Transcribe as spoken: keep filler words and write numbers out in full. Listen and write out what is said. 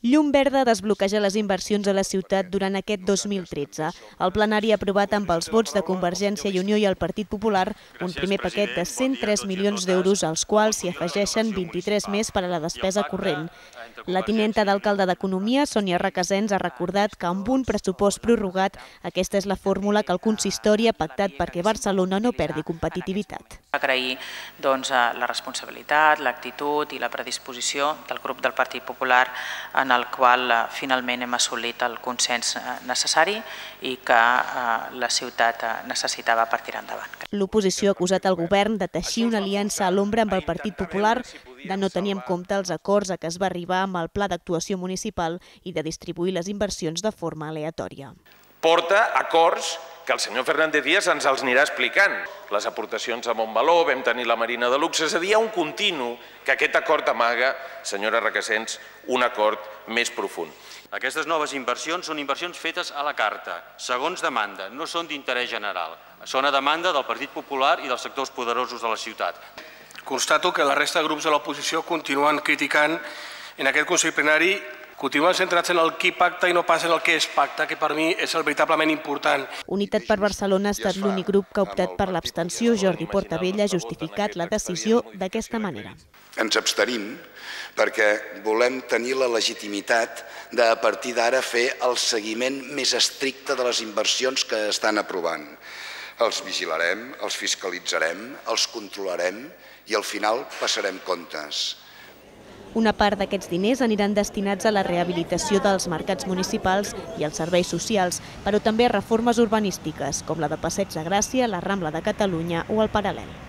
Llum verda desbloqueja les inversions a la ciutat durant aquest dos mil tretze. El plenari ha aprovat amb els vots de Convergència i Unió i el Partit Popular un primer paquet de cent tres milions d'euros, als quals s'hi afegeixen vint-i-tres més per a la despesa corrent. La tinenta d'alcalde d'Economia, Sònia Requesens, ha recordat que amb un pressupost prorrogat aquesta és la fórmula que el consistori ha pactat perquè Barcelona no perdi competitivitat. Agrair doncs, la responsabilitat, l'actitud i la predisposició del grup del Partit Popular en el qual finalment hem assolit el consens necessari i que la ciutat necessitava per tirar endavant. L'oposició ha acusat el govern de teixir una aliança a l'ombra amb el Partit Popular, de no tenir en compte els acords a què es va arribar amb el Pla d'Actuació Municipal i de distribuir les inversions de forma aleatòria. Porta acords que el senyor Fernández Díaz ens els anirà explicant. Les aportacions a Montmeló, vam tenir la Marina de Luxe, és a dir, hi ha un continu que aquest acord amaga, senyora Requesens, un acord més profund. Aquestes noves inversions són inversions fetes a la carta, segons demanda, no són d'interès general. Són a demanda del Partit Popular i dels sectors poderosos de la ciutat. Constato que la resta de grups de l'oposició continuen criticant en aquest Consell Plenari, continuen centrats en el qui pacta i no pas en el que és pacta, que per mi és el veritablement important. Unitat per Barcelona ha estat l'únic grup que ha optat per l'abstenció. Jordi Portabella ha justificat la decisió d'aquesta manera. Ens abstenim perquè volem tenir la legitimitat de, a partir d'ara, fer el seguiment més estricte de les inversions que estan aprovant. Els vigilarem, els fiscalitzarem, els controlarem i al final passarem comptes. Una part d'aquests diners aniran destinats a la rehabilitació dels mercats municipals i als serveis socials, però també a reformes urbanístiques, com la de Passeig de Gràcia, la Rambla de Catalunya o el Paral·lel.